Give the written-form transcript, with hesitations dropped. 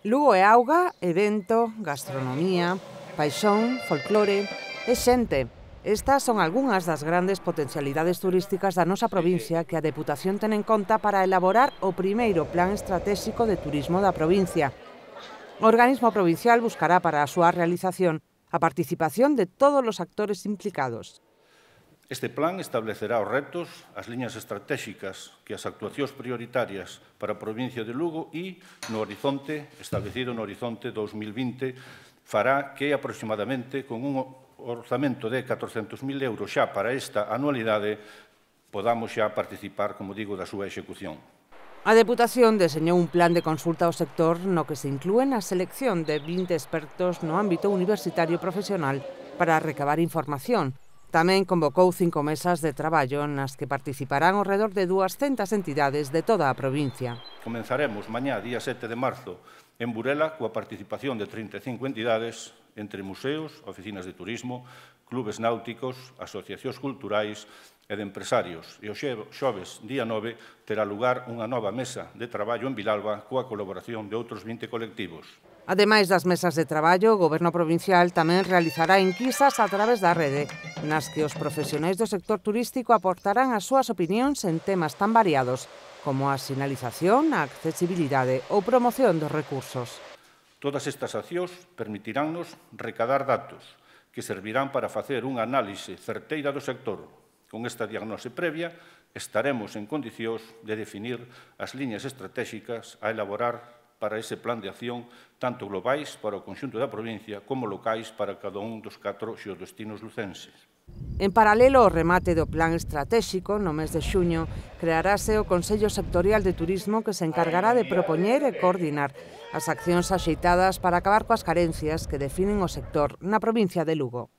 Lugo é auga, evento, gastronomía, paixón, folclore e xente. Estas son algunhas das grandes potencialidades turísticas da nosa provincia que a Deputación ten en conta para elaborar o primeiro Plan Estratéxico de Turismo da provincia. O organismo provincial buscará para a súa realización a participación de todos os actores implicados. Este plan establecerá os retos, as liñas estratégicas que as actuacións prioritarias para a provincia de Lugo e, establecido no horizonte 2020, fará que aproximadamente con un orzamento de 400.000 euros xa para esta anualidade podamos xa participar, como digo, da súa execución. A Deputación deseñou un plan de consulta ao sector no que se inclúen a selección de 20 expertos no ámbito universitario e profesional para recabar información. Tamén convocou 5 mesas de traballo nas que participarán ao redor de 200 entidades de toda a provincia. Comenzaremos mañá, día 7 de marzo, en Burela, coa participación de 35 entidades, entre museos, oficinas de turismo, clubes náuticos, asociacións culturais e de empresarios. E o xoves, día 9, terá lugar unha nova mesa de traballo en Vilalba coa colaboración de outros 20 colectivos. Ademais das mesas de traballo, o Goberno provincial tamén realizará enquisas a través da rede, nas que os profesionais do sector turístico aportarán as súas opinións en temas tan variados como a sinalización, a accesibilidade ou promoción dos recursos. Todas estas accións permitiránnos recadar datos que servirán para facer unha análise certeira do sector. Con esta diagnose previa, estaremos en condicións de definir as liñas estratégicas a elaborar para ese plan de acción, tanto globais para o conxunto da provincia como locais para cada un dos 4 xeodestinos lucenses. En paralelo ao remate do plan estratéxico, no mes de xuño, crearase o Consello Sectorial de Turismo que se encargará de propoñer e coordinar as accións axeitadas para acabar coas carencias que definen o sector na provincia de Lugo.